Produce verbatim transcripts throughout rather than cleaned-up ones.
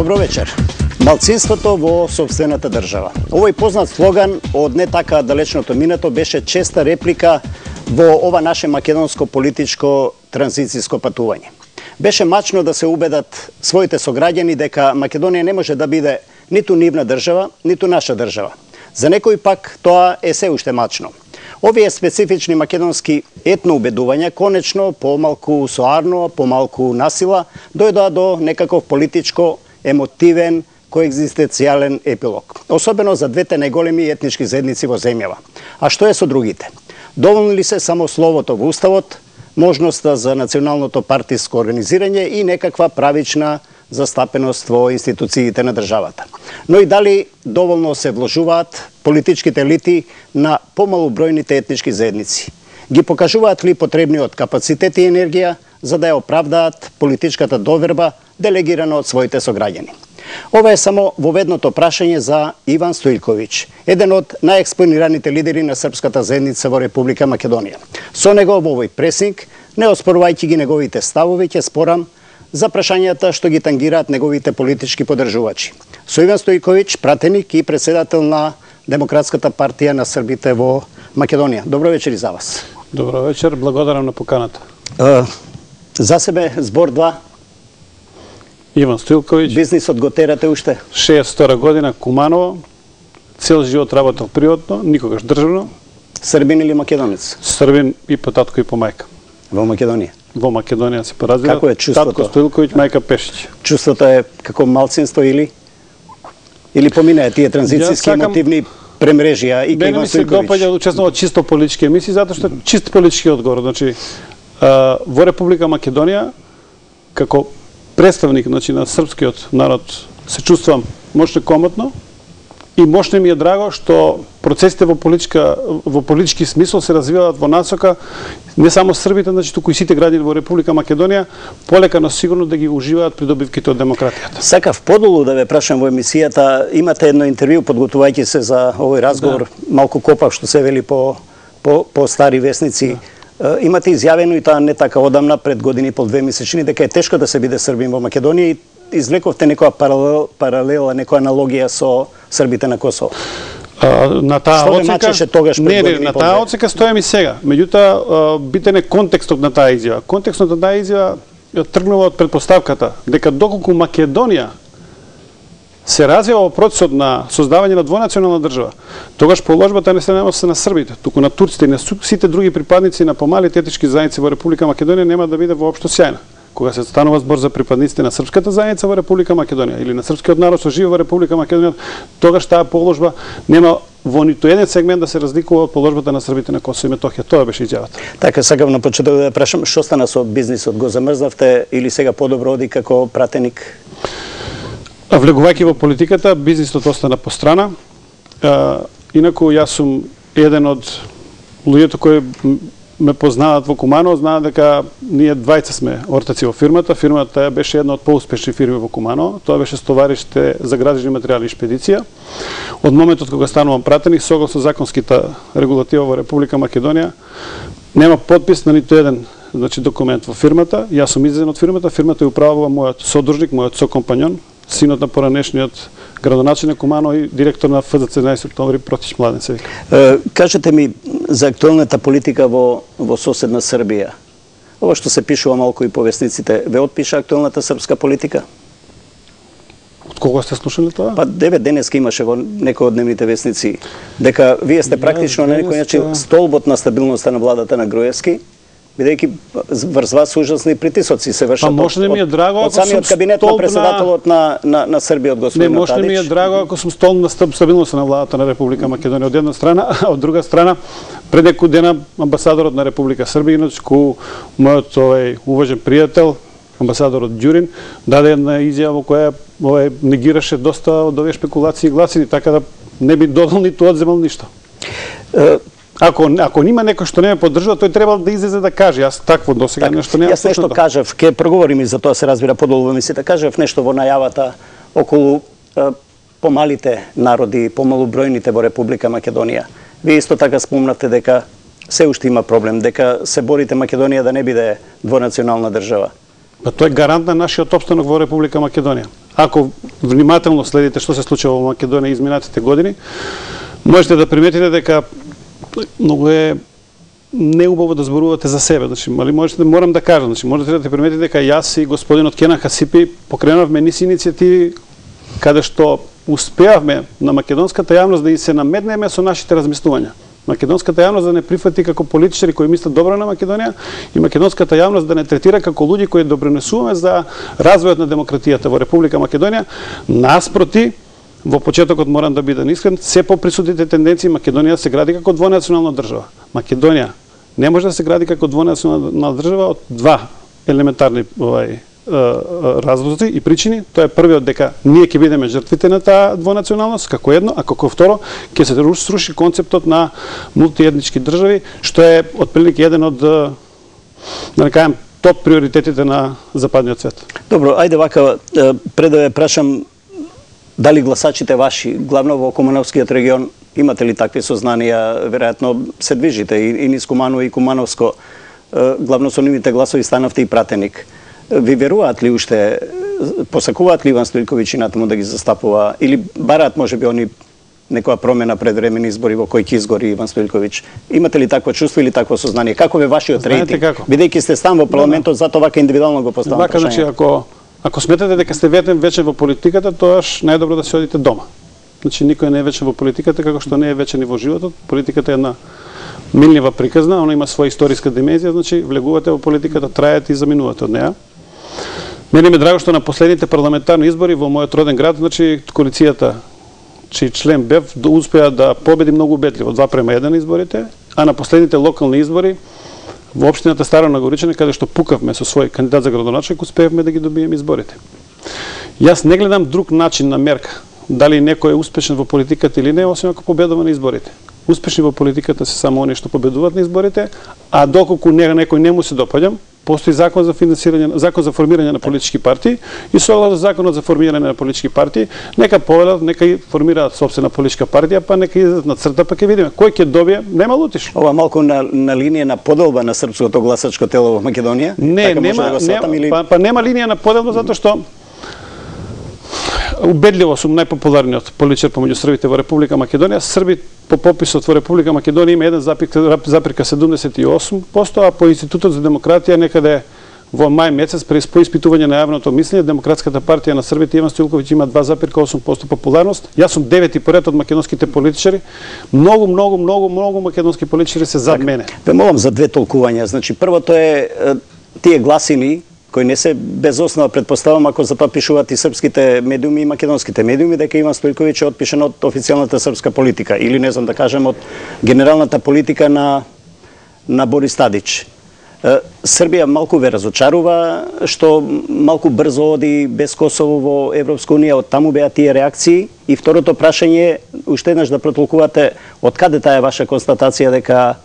Добро вечер. Малцинството во сопствената држава. Овој познат слоган од не така далечното минато беше честа реплика во ова наше македонско политичко транзицијско патување. Беше мачно да се убедат своите сограѓани дека Македонија не може да биде ниту нивна држава, ниту наша држава. За некои пак тоа е се уште мачно. Овие специфични македонски етно убедувања конечно помалку соарно, помалку насила дојдоа до некаков политичко, емотивен, коегзистенцијален епилог. Особено за двете најголеми етнички заедници во земјава. А што е со другите? Доволни ли се само словото во уставот, можноста за националното партиско организирање и некаква правична застапеност во институциите на државата? Но и дали доволно се вложуваат политичките елити на помалубројните етнички заедници? Ги покажуваат ли потребниот капацитет и енергија за да ја оправдаат политичката доверба делегирана од своите сограѓани? Ова е само воведното прашање за Иван Стоилковиќ, еден од најекспонираните лидери на српската заедница во Република Македонија. Со него во овој пресинг, не оспорувајќи ги неговите ставови, ќе спорам за прашањата што ги тангираат неговите политички поддржувачи. Со Иван Стоилковиќ, пратеник и председател на Демократската партија на србите во Македонија. Добро вечер и за вас. Добро вечер, благодарам на поканата. Uh, за себе збор два. Иван Стоилковиќ. Бизнисот го терате уште? шеесет и втора година, Куманово. Цел живот работел приватно, никогаш државно. Србин или македонец? Србин и по татко и по мајка. Во Македонија? Во Македонија се поразвива. Како е чувството? Татко Стоилковиќ, мајка Пешиќ. Чувството е како малцинство или или поминаа тие транзицијски сакам... емотивни премрежија и кај Иван Стоилковиќ? Мене ми се допаѓа да учествувам чисто политички емисии затоа што чист политички одговор. Значи а, во Република Македонија како представник, значи, на српскиот народ се чувствувам мощно комотно и мощно ми е драго што процесите во политичка во политички смисол се развиваат во насока не само србите, значи туку и сите граѓани во Република Македонија полека но сигурно да ги уживаат придобивките од демократијата. Сакав подолу да ве прашам во емисијата, имате едно интервју подготвувајќи се за овој разговор, да. Малку копав што се вели по по, по стари весници. Да. Имате изјавено и таа не така одамна, пред години и пол две месечини, дека е тешко да се биде србин во Македонија и извлековте некоја паралел, паралела, некоја аналогија со србите на Косово. А, на таа Што оцека, мачеше тогаш пред не, години не, на и пол таа две? оцека стојам и сега. Меѓутоа, битен е контекстот на таа изјава. Контекстот на таа изјава тргнува од предпоставката дека доколку Македонија се развива во процесот на создавање на двонационална држава, тогаш положбата не се наноси на србите, туку на турците и на сите други припадници на помалите етнички заедници во Република Македонија нема да биде воопшто сјајна. Кога се станува збор за припадниците на српската заедница во Република Македонија или на српскиот народ што живее во Република Македонија, тогаш таа положба нема во ниту еден сегмент да се разликува од положбата на србите на Косово и Метохија. Тоа беше изјавата. Така, сакам на почеток да прашам, што стана со бизнисот? Го замрзнавте или сега подобро оди како пратеник? Влегувајќи во политиката, бизнисот остана по страна. А, инаку јас сум еден од луѓето кои ме познаваат во Куманово, знаат дека ние двајца сме ортаци во фирмата. Фирмата беше една од поуспешни фирми во Куманово. Тоа беше стовариште за градежни материјали и шпедиција. Од моментот кога станувам пратеник, согласно законската регулатива во Република Македонија, нема подпис на ниту еден, значи, документ во фирмата. Јас сум излезен од фирмата, фирмата ја управува мојот содружник, мојот сокомпањон, синот на поранешниот градоначелник Куманово и директор на Ф З Ц еднаесет октомври Протич Младен се вика. Е, кажете ми за актуелната политика во во соседна Србија. Ова што се пишува малку и по весниците, ве отпиша актуелната српска политика? Од кого сте слушали тоа? Па девет денеска имаше во некој од дневните весници дека вие сте практично на некој начин столбот на стабилноста на владата на Груевски, бидејќи врз вас ужасни притисоци се вршат. Па може да ми е драго од самиот кабинет на председателот на на на Србија од господин Не, може да ми е драго ако сум столб на стабилноста на владата на Република Македонија од една страна, а од друга страна пред неколку дена амбасадорот на Република Србија, иначе ку мојот овој уважен пријател амбасадорот Ѓурин даде една изјава во која овој негираше доста од овие шпекулации и гласини, така да не би додал ниту одземал ништо. Ако ако нима некој што не ме поддржува, тој требал да излезе да каже. Јас такво досега так, нешто немам. Јас нешто кажав, ке проговориме за тоа, се разбира подолу во емисијата. Кажав нешто во најавата околу е, помалите народи, помалубројните во Република Македонија. Вие исто така спомнавте дека се уште има проблем, дека се борите Македонија да не биде двонационална држава. Па тоа е гарант на нашиот опстанок во Република Македонија. ако внимателно следите што се случува во Македонија изминатите години, можете да приметите дека многу е неубаво да зборувате за себе. Значи, али можете, морам да кажам, значи, можете да приметите дека јас и господинот Кенан Хасипи покренавме низ иницијативи каде што успеавме на македонската јавност да и се наметнеме со нашите размислувања. Македонската јавност да не прифати како политичари кои мислат добро на Македонија и македонската јавност да не третира како луѓе кои допринесуваме за развојот на демократијата во Република Македонија. Наспроти, во почетокот морам да бидам искрен, се поприсутните тенденции Македонија се гради како двонационална држава. Македонија не може да се гради како двонационална држава од два елементарни овај разлози и причини. Тоа е првиот, дека ние ќе бидеме жртвите на таа двонационалност како едно, а како второ ќе се сруши концептот на мултиетнички држави, што е отприлика еден од, да не кажам, топ приоритетите на западниот свет. Добро, ајде вака, пред да ве прашам дали гласачите ваши, главно во Кумановскиот регион, имате ли такви сознанија? Веројатно се движите и, и низ Куманово и Кумановско, главно со нивните гласови станавте и пратеник. Ви веруваат ли уште, посакуваат ли Иван Стојковиќ и натаму да ги застапува, или бараат можеби они некоја промена пред времени избори во кој ќе изгори Иван Стојковиќ? Имате ли такво чувство или такво сознание? Како ве вашиот рейтинг? Бидејќи сте стан во парламентот, затоа вака индивидуално го поставам вака, значи, ако ако сметате дека сте ветен вечен во политиката, тоаш најдобро да се одите дома. Значи никој не е вечен во политиката, како што не е вечен и во животот. Политиката е една милнива приказна, она има своја историска димензија, значи влегувате во политиката, траете и заминувате од неа. Мене ми е драго што на последните парламентарни избори во мојот роден град, значи коалицијата чиј член бев успеа да победи многу убедливо, два према еден изборите, а на последните локални избори во општината Старо Нагоричане, каде што пукавме со свој кандидат за градоначелник, успеавме да ги добиеме изборите. Јас не гледам друг начин на мерка, дали некој е успешен во политиката или не, освен ако победува на изборите. Успешни во политиката се само оние што победуваат на изборите, а доколку некој не му се допаѓам, постои закон за финансирање, закон за формирање на политички партии и согласно законот за формирање на политички партии, нека повелат, нека и формираат сопствена политичка партија, па нека излезат на црта, па ќе видиме кој ќе добие, нема лутиш. Ова малку на, на линија на поделба на српското гласачко тело во Македонија? Не, така нема, да нема или... па, па нема линија на поделба затоа што убедливо сум најпопуларниот политичар помеѓу србите во Република Македонија. Срби по пописот во Република Македонија има еден запирка седумдесет и осум проценти, а по Институтот за демократија некаде во мај месец през поиспитување на јавното мислење, Демократската партија на србите Иван Стојковиќ има два запирка осум проценти популарност. Јас сум девети поред од македонските политичари. Многу, многу, многу, многу македонски политичари се зад мене. Ве молам за две толкувања. Значи првото е тие гласини кои не се без основа, предпоставам, ако за тоа пишуваат и српските медиуми и македонските медиуми, дека Иван Стојковиќ е отпишан од официјалната српска политика или не знам да кажем од генералната политика на на Борис Тадич. Србија малку ве разочарува што малку брзо оди без Косово во Европска унија, од таму беа тие реакции. И второто прашање, уште еднаш да протолкувате од каде таа ваша констатација дека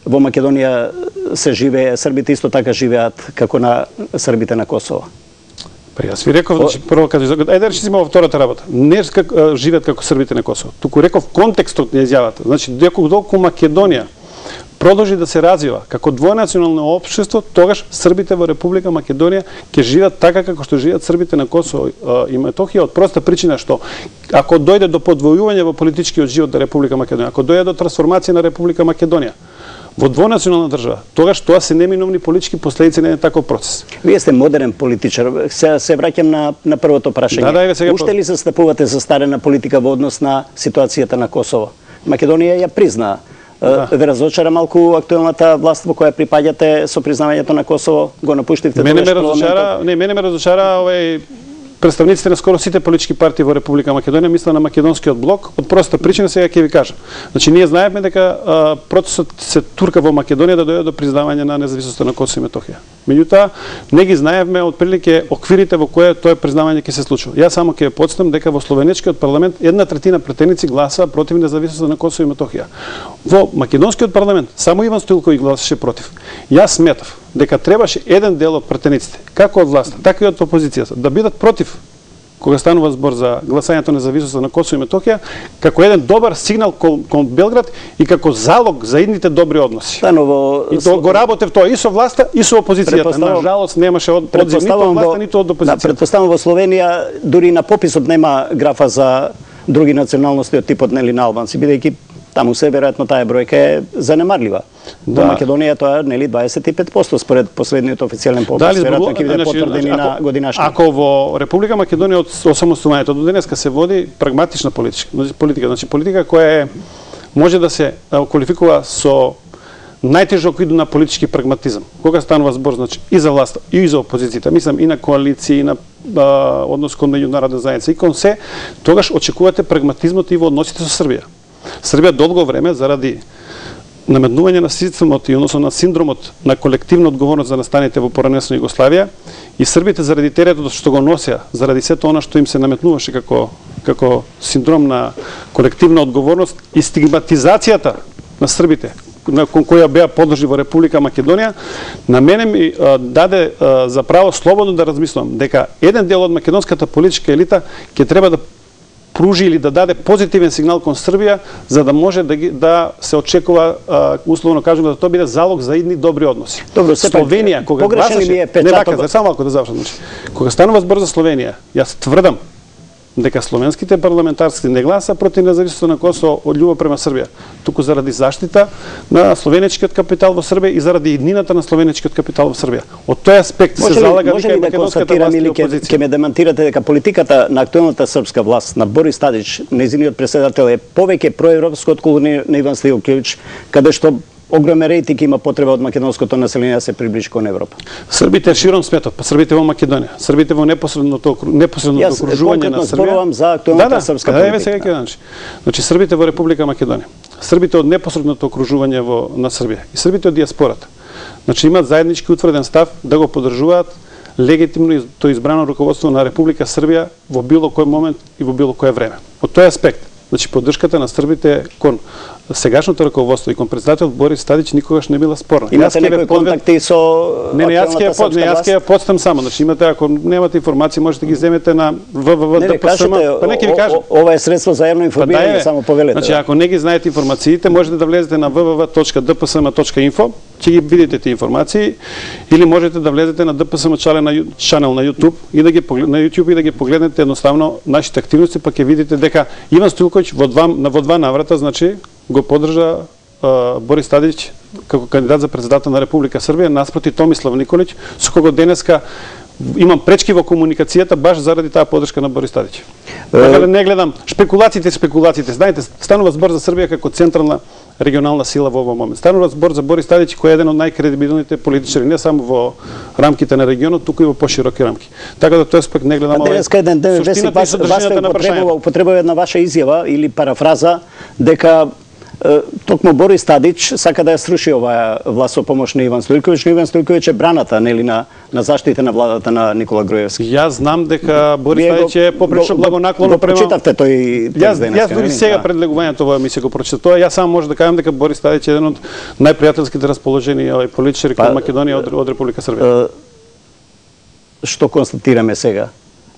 во Македонија се живее, србите исто така живеат како на србите на Косово? Па јас ви реков, значи прво каде ајде да речиме во втората работа. Не како живеат како србите на Косово. Туку реков контекстот на изјавата. Значи доколку Македонија продолжи да се развива како двонационално општество, тогаш србите во Република Македонија ќе живеат така како што живеат србите на Косово и Метохија, од проста причина што ако дојде до подвојување во политичкиот живот на Република Македонија, ако дојде до трансформација на Република Македонија во двонационална држава, тогаш тоа се неминовни политички последици на еден таков процес. Вие сте модерен политичар. Се, се враќам на, на првото прашање. Да, да, сега... Уште ли застапувате за старена политика во однос на ситуацијата на Косово? Македонија ја призна. Да. Ве разочара малку актуелната власт во која припаѓате со признавањето на Косово? Го напуштивте мене ме разочара, не, мене ме разочара овај представниците на скоро сите политички партии во Република Македонија, мисла на македонскиот блок, од проста причина сега ќе ви кажам. Значи ние знаеме дека а, процесот се турка во Македонија да дојде до признавање на независноста на Косово и Метохија. Меѓутоа, не ги знаевме отприлike оквирите во кои тоа признавање ќе се случува. Јас само ќе потстам дека во словенечкиот парламент една третина претеници гласаа против независноста на Косово и Метохија. Во македонскиот парламент само Иван Стојковиќ гласаше против. Јас сметав дека требаше еден дел од претениците, како од власта, така и од опозицијата, да бидат против кога станува збор за гласањето независност на Косово и Метохија, како еден добар сигнал кон, кон Белград и како залог за идните добри односи. Станово... И то го работев тоа и со власта, и со опозицијата. На жалост немаше од одзив ниту од власта, ниту од опозицијата. Да, предпоставам во Словенија дури на пописот нема графа за други националности од типот нели на албанци, бидејќи таму се веројатно таа бројка е занемарлива. Да. Во Македонија тоа нели дваесет и пет проценти според последниот официјален попис. Дали веројатно ќе биде потврдени на годинашни. Ако во Република Македонија од осамостојањето до денеска се води прагматична политика, политика, значи политика која е може да се квалификува со најтежок вид на политички прагматизам. Кога станува збор значи и за власта и за опозицијата, мислам и на коалиции, и на а, однос кон меѓународна заедница и кон се, тогаш очекувате прагматизмот и во односите со Србија. Србија долго време заради наметнување на системот и односно на синдромот на колективна одговорност за настаните во поранешна Југославија и србите заради теретот што го носеа, заради сето она што им се наметнуваше како како синдром на колективна одговорност и стигматизацијата на србите на кон која беа подложи во Република Македонија, на мене ми а, даде а, за право слободно да размислам дека еден дел од македонската политичка елита ќе треба да пружи или да даде позитивен сигнал кон Србија за да може да ги, да се очекува а, условно кажувам да тоа биде залог за идни добри односи. Добро, Словенија кога гласаше ми е не вака, само малку да завршам, значи кога станува збор за Словенија, јас тврдам дека словенските парламентарци не гласа против независноста на Косово од љубов према Србија, туку заради заштита на словенечкиот капитал во Србија и заради иднината на словенечкиот капитал во Србија. Од тој аспект се залага дека македонската власт и опозиција. Ќе ме демантирате дека политиката на актуелната српска власт на Борис Тадич, нејзиниот претседател е повеќе проевропско отколку на Иван Стојилковиќ, каде што огромен рейтинг има потреба од македонското население да се приближи кон Европа. Србите широм светот, па србите во Македонија, србите во непосредното непосредното окружување на Србија. Јас зборувам за актуелната да, да, српска да, политика. Да, сега ќе значи. Значи србите во Република Македонија, србите од непосредното окружување во на Србија и србите од диаспората. Значи имаат заеднички утврден став да го поддржуваат легитимно то избрано руководство на Република Србија во било кој момент и во било кое време. Од тој аспект, значи поддршката на србите кон сегашното раководство и кон председател Борис Тадич никогаш не била спорна. Имате некои контакти со Не, не, јас ќе ја не, јас ќе ја подстам само. Значи имате ако немате информации можете ги земете на в в в точка д п с м. Па не ќе ви кажам. Ова е средство за јавно информирање, само повелете. Значи ако не ги знаете информациите, можете да влезете на в в в точка д п с м точка инфо, ќе ги видите тие информации или можете да влезете на д п с м чанел на чанел на YouTube и да ги на YouTube и да ги погледнете едноставно нашите активности, па ќе видите дека Иван Стојилковиќ во два во два наврата, значи го поддржа uh, Борис Тадич како кандидат за председател на Република Србија наспроти Томислав Николиќ, со кого денеска имам пречки во комуникацијата баш заради таа поддршка на Борис Тадич. Така да не гледам шпекулациите, спекулациите. Знаете, станува збор за Србија како централна регионална сила во овој момент. Станува збор за Борис Тадич кој е еден од најкредибилните политичари, не само во рамките на регионот, туку и во пошироки рамки. Така да тој аспект не гледам овој. Денеска еден ден веси вас употребува една ваша изјава или парафраза дека токму Борис Тадич сака да ја сруши оваа власт со помош на Иван Стојилковиќ, но Иван Стојилковиќ е браната нели на на заштита на владата на Никола Груевски. Јас знам дека Борис Тадич е попречно благонаклонно према. Прочитавте тој текст денеска. Јас дури сега пред легувањето во емисија го прочитав тоа. Јас само може да кажам дека Борис Тадич е еден од најпријателските расположени овој политичари кон Македонија од, од Република Србија. Што констатираме сега?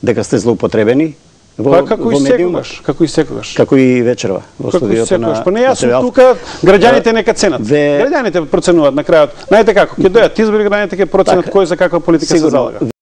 Дека сте злоупотребени? Во, па како и секогаш, како и секогаш. Како и вечерва во студиото на. Па не јас сум тука, граѓаните нека ценат. Ве... Граѓаните проценуваат на крајот. Знаете како, ќе дојдат избори, граѓаните ќе проценат кој за каква политика се залага.